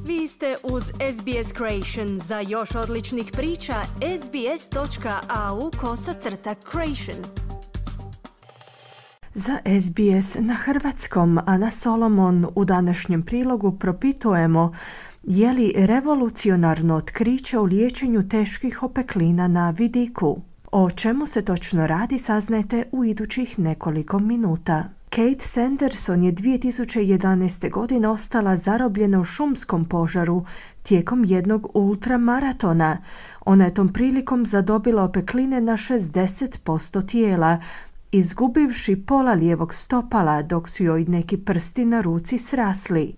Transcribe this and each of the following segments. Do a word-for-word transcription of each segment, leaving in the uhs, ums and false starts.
Vi ste uz S B S Creation. Za još odličnih priča, sbs.au kosacrta creation. Za S B S na hrvatskom Ana Solomon u današnjem prilogu propitujemo je li revolucionarno otkriće u liječenju teških opeklina na vidiku. O čemu se točno radi saznajte u idućih nekoliko minuta. Kate Sanderson je dvije tisuće jedanaeste. godine ostala zarobljena u šumskom požaru tijekom jednog ultramaratona. Ona je tom prilikom zadobila opekline na šezdeset posto tijela, izgubivši pola lijevog stopala dok su joj neki prsti na ruci srasli.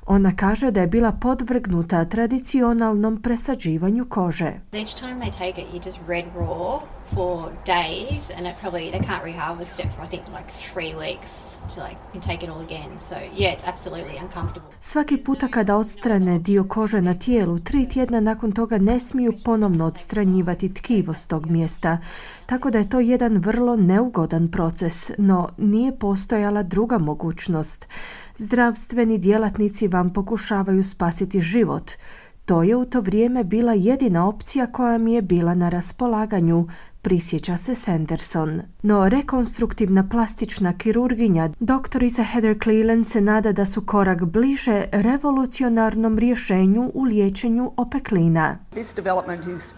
Ona kaže da je bila podvrgnuta tradicionalnom presađivanju kože. Each time they take it, you just red raw for days, and it probably they can't reharvest it for I think like three weeks to like you can take it all again. So yeah, it's absolutely uncomfortable. Svaki puta kada odstrane dio kože na tijelu, tri tjedna nakon toga ne smiju ponovno odstranjivati tkivo s tog mjesta, tako da je to jedan vrlo neugodan proces, no nije postojala druga mogućnost. Zdravstveni djelatnici vam pokušavaju spasiti život. To je u to vrijeme bila jedina opcija koja mi je bila na raspolaganju, prisjeća se Sanderson. No rekonstruktivna plastična kirurginja doktorica Heather Cleland se nada da su korak bliže revolucionarnom rješenju u liječenju opeklina. This development is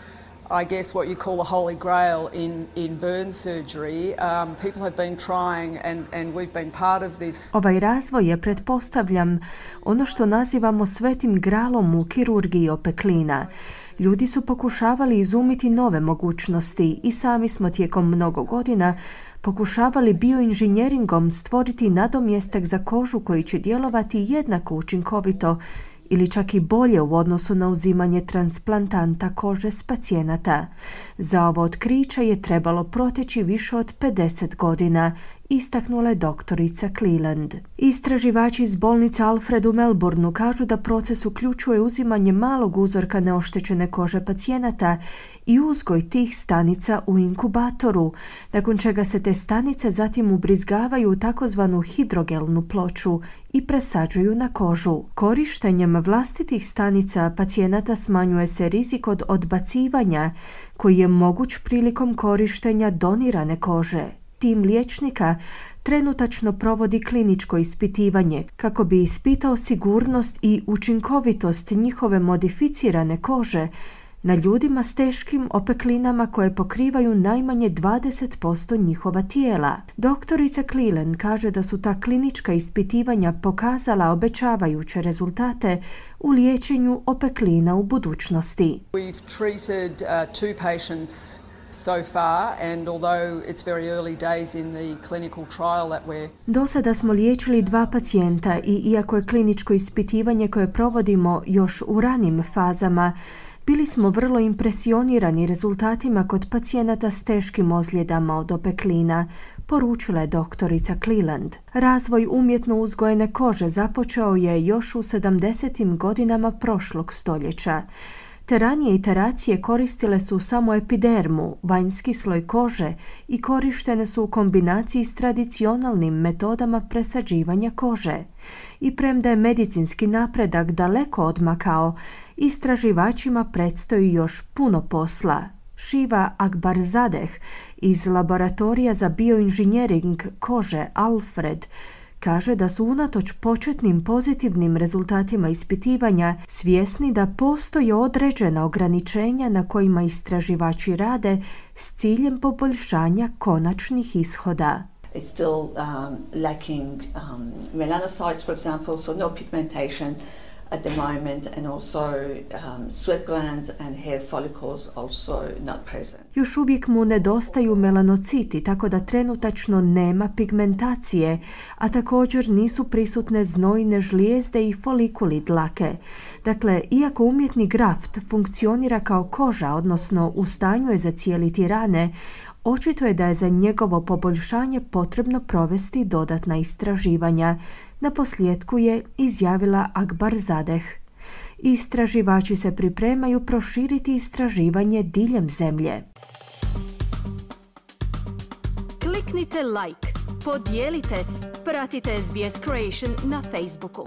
I guess what you call the holy grail in, in burn surgery. Um, people have been trying and, and we've been part of this. Ovaj razvoj je, pretpostavljam, ono što nazivamo svetim gralom u kirurgiji opeklina. Ljudi su pokušavali izumiti nove mogućnosti i sami smo tijekom mnogo godina pokušavali bioinženjeringom stvoriti nadomjestak za kožu koji će djelovati jednako učinkovito ili čak i bolje u odnosu na uzimanje transplantanta kože s pacijenata. Za ovo otkriće je trebalo proteći više od pedeset godina, istaknula je doktorica Cleland. Istraživači iz bolnice Alfred u Melbourneu kažu da proces uključuje uzimanje malog uzorka neoštećene kože pacijenata i uzgoj tih stanica u inkubatoru, nakon čega se te stanice zatim ubrizgavaju u takozvanu hidrogelnu ploču i presađuju na kožu. Korištenjem vlastitih stanica pacijenata smanjuje se rizik od odbacivanja koji je moguć prilikom korištenja donirane kože. Tim liječnika trenutačno provodi kliničko ispitivanje kako bi ispitao sigurnost i učinkovitost njihove modificirane kože na ljudima s teškim opeklinama koje pokrivaju najmanje dvadeset posto njihova tijela. Doktorica Cleland kaže da su ta klinička ispitivanja pokazala obećavajuće rezultate u liječenju opeklina u budućnosti. We've treated uh, two patients so far, and although it's very early days in the clinical trial that we're... Do sada smo liječili dva pacijenta i iako je kliničko ispitivanje koje provodimo još u ranim fazama, bili smo vrlo impresionirani rezultatima kod pacijenata s teškim ozljedama od opeklina, poručila je doktorica Cleland. Razvoj umjetno uzgojene kože započeo je još u sedamdesetim godinama prošlog stoljeća. Te ranije iteracije koristile su samo epidermu, vanjski sloj kože, i korištene su u kombinaciji s tradicionalnim metodama presađivanja kože. I premda je medicinski napredak daleko odmakao, istraživačima predstoji još puno posla. Shiva Akbarzadeh iz laboratorija za bioinženjering kože Alfred kaže da su unatoč početnim pozitivnim rezultatima ispitivanja svjesni da postoje određena ograničenja na kojima istraživači rade s ciljem poboljšanja konačnih ishoda. It's still um, lacking um, melanocytes, for example, so no pigmentation at the moment, and also um, sweat glands and hair follicles also not present. Još uvijek mu nedostaju melanociti, tako da trenutačno nema pigmentacije, a također nisu prisutne znojne žlijezde i folikuli dlake. Dakle, iako umjetni graft funkcionira kao koža, odnosno u stanju je zacijeliti rane, očito je da je za njegovo poboljšanje potrebno provesti dodatna istraživanja. Naposljetku je izjavila Akbarzadeh. Istraživači se pripremaju proširiti istraživanje diljem zemlje. Kliknite like, podijelite, pratite S B S Creation na Facebooku.